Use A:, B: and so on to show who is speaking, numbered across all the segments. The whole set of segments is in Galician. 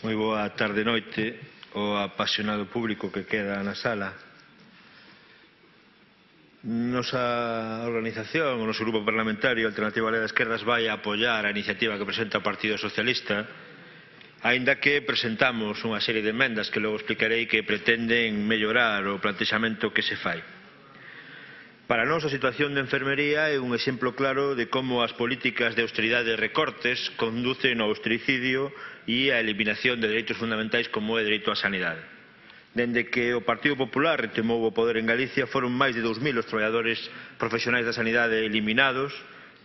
A: Moi boa tarde noite ao apasionado público que queda na sala. Nosa organización, o noso grupo parlamentario Alternativa Galega de Esquerdas vai a apoiar a iniciativa que presenta o Partido Socialista, aínda que presentamos unha serie de emendas que logo explicarei que pretenden mellorar o plantexamento que se fai. Para nós a situación de enfermería é un exemplo claro de como as políticas de austeridade e recortes conducen ao austericidio e a eliminación de dereitos fundamentais como é o dereito á sanidade. Dende que o Partido Popular retomou o poder en Galicia foron máis de 2000 os traballadores profesionais da sanidade eliminados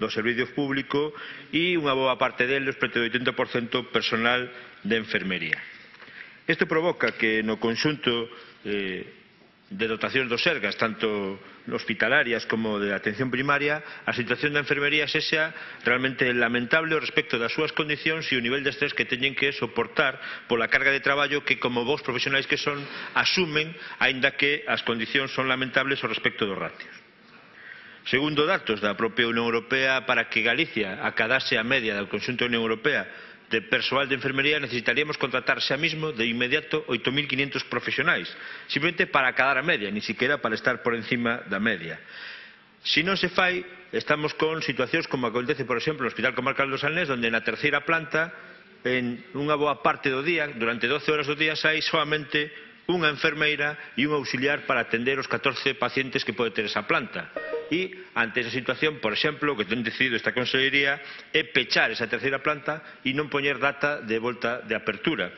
A: do servizo público e unha boa parte deles, preto do 80% personal de enfermería. Isto provoca que no conxunto de dotacións do Sergas, tanto hospitalarias como de atención primaria, a situación da enfermería sexa realmente lamentable respecto das súas condicións e o nivel de estrés que teñen que soportar pola carga de traballo que, como bons profesionais que son, asumen, aínda que as condicións son lamentables ao respecto dos ratios. Segundo datos da propia Unión Europea, para que Galicia acadase a media do conxunto da Unión Europea de persoal de enfermería, necesitaríamos contratar xa mismo de inmediato 8.500 profesionais, simplemente para acadar a media, ni siquiera para estar por encima da media. Se non se fai, estamos con situacións como acontece, por exemplo, no Hospital Comarcal do Salnés, onde na terceira planta, en unha boa parte do día, durante 12 horas do día, hai solamente unha enfermeira e un auxiliar para atender os 14 pacientes que pode ter esa planta. E, ante esa situación, por exemplo, o que ten decidido esta Consellería é pechar esa terceira planta e non poñer data de volta de apertura,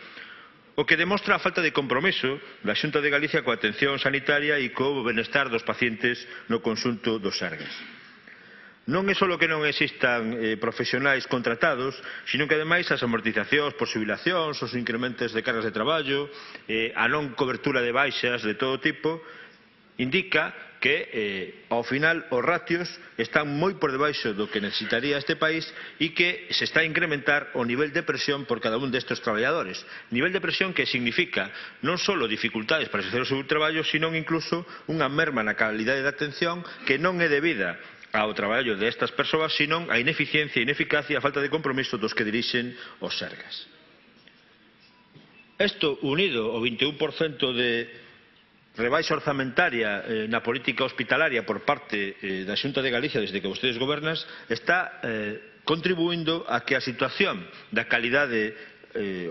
A: o que demostra a falta de compromiso da Xunta de Galicia coa atención sanitaria e co benestar dos pacientes no conxunto dos Sergas. Non é só que non existan profesionais contratados, sino que ademais as amortizacións por xubilacións, os incrementos de cargas de traballo, a non cobertura de baixas de todo tipo, indica que, ao final, os ratios están moi por debaixo do que necesitaría este país e que se está a incrementar o nivel de presión por cada un destes traballadores. Nivel de presión que significa non só dificultades para exercer o seu traballo, sino incluso unha merma na calidade da atención que non é debida ao traballo destas persoas, sino a ineficiencia, ineficacia e a falta de compromiso dos que dirixen os Sergas. Isto, unido ao 21% de rebaixa orzamentaria na política hospitalaria por parte da Xunta de Galicia desde que vostedes gobernan, está contribuindo a que a situación da calidade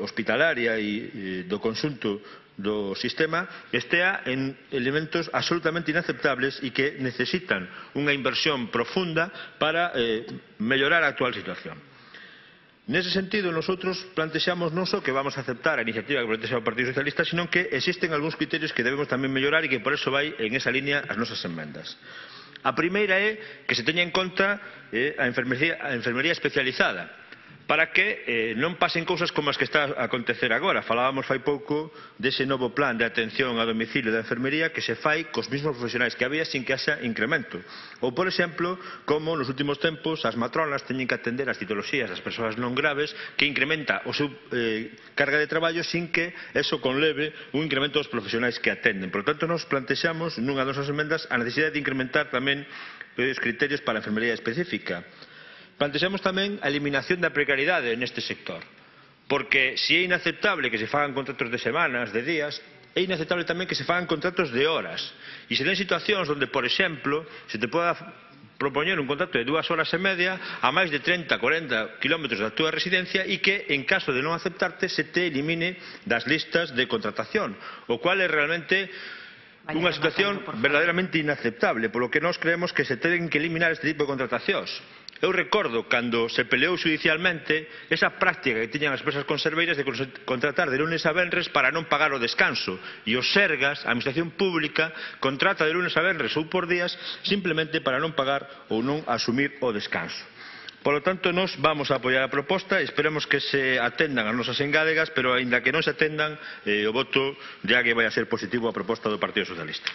A: hospitalaria e do conxunto do sistema estea en elementos absolutamente inaceptables e que necesitan unha inversión profunda para mellorar a actual situación. Nese sentido, nosotros plantexamos non só que vamos a aceptar a iniciativa que plantexa o Partido Socialista, sino que existen algúns criterios que debemos tamén mellorar e que por eso vai en esa línea as nosas enmendas. A primeira é que se teña en conta a enfermería especializada, para que non pasen cousas como as que está a acontecer agora. Falábamos fai pouco dese novo plan de atención a domicilio da enfermería que se fai cos mesmos profesionais que había sin que haxa incremento. Ou, por exemplo, como nos últimos tempos as matronas teñen que atender as citoloxías das persoas non graves, que incrementa o seu carga de traballo sin que eso conleve un incremento dos profesionais que atenden. Por tanto, nos plantexamos nunha das nosas emendas a necesidade de incrementar tamén os criterios para a enfermería específica. Plantexamos tamén a eliminación da precariedade neste sector, porque se é inaceptable que se fagan contratos de semanas, de días, é inaceptable tamén que se fagan contratos de horas. E se ten situacións onde, por exemplo, se te poda propoñer un contrato de 2 horas e media a máis de 30-40 kilómetros da túa residencia e que, en caso de non aceptarte, se te elimine das listas de contratación, o cual é realmente unha situación verdadeiramente inaceptable, polo que nós creemos que se ten que eliminar este tipo de contratacións. Eu recordo cando se peleou judicialmente esa práctica que tiñan as empresas conserveiras de contratar de lunes a venres para non pagar o descanso, e os Sergas, a administración pública, contrata de lunes a venres ou por días simplemente para non pagar ou non asumir o descanso. Por lo tanto, nós vamos a apoiar a proposta e esperemos que se atendan as nosas engádegas, pero aínda que non se atendan, o voto ya que vai a ser positivo a proposta do Partido Socialista.